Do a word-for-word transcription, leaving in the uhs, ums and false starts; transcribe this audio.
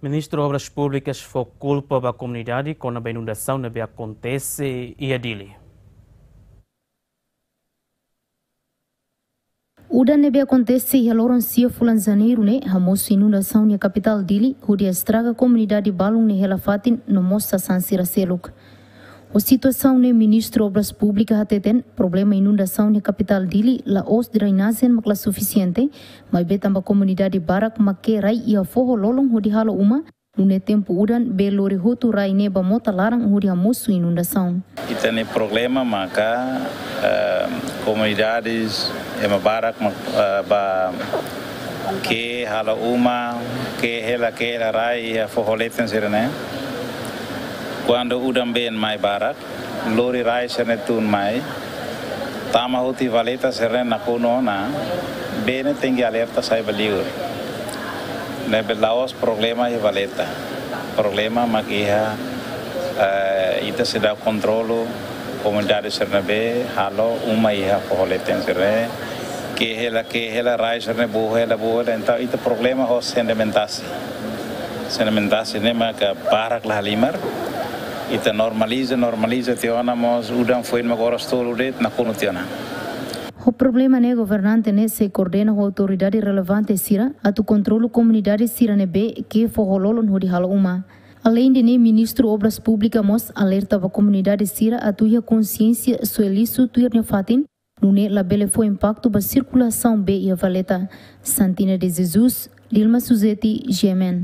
Ministru Obras Públikas fó kulpa ba komunidade kona-ba inundasaun ne'ebé akontese iha Dili. Udan ne'ebé akontese iha loron sia fulan Janeiru ne'e hamosu inundasaun iha kapitál Dili, hodi estraga komunidade balun ne'e hela fatin no mós sasán sira seluk. Ho situasaun ne'e Ministru Obras Públikas hateten, problema inundasaun iha kapitál Dili la'ós drenajen mak la sufisiente, maibé tanba komunidade barak mak ke'e rai iha foho lolon hodi halo uma, nune'e tempu udan bee lori hotu rai ne'e ba mota laran hodi hamosu inundasaun. Ita-nia problema maka, eh, komunidades ema barak mak, eh, ba ke'e halo uma, ke'e hela, ke'e hela rai iha foho leten sira-ne'e. Kuandu udan been mai barak, lori rai sira-ne'e tun mai, tama hotu iha valeta sira-ne'e nakonu ona, bee ne'e tenke alerta sai ba liur. Ne'ebé la'ós problema iha valeta. Problema mak iha, eh, ita seidauk kontrolu komunidade sira-ne'ebé halo uma iha foho leten sira-ne'e. Ke'e hela, ke'e hela, rai sira-ne'e bohu hela, bohu hela. Entaun, ita problema ho sedimentasi. Sedimentasi ne'e maka barak la halimar. Ita normaliza, normaliza tiha ona mós udan foin mak oras tolu de'it nakonu tiha ona. Ho problema ne'e governante ne'e sei koordena ho autoridade relevante sira atu kontrolu komunidade sira ne'ebé ke'e foho lolon hodi halo uma. Aleinde ne'e, Ministru Obras Públikas mós alerta ba komunidade sira atu iha konsiénsia soe lixu tuir nia fatin, nune'e labele fó impaktu ba sirkulasaun bee iha valeta. Santina de Jesus, Dilma Suzeti, G M N.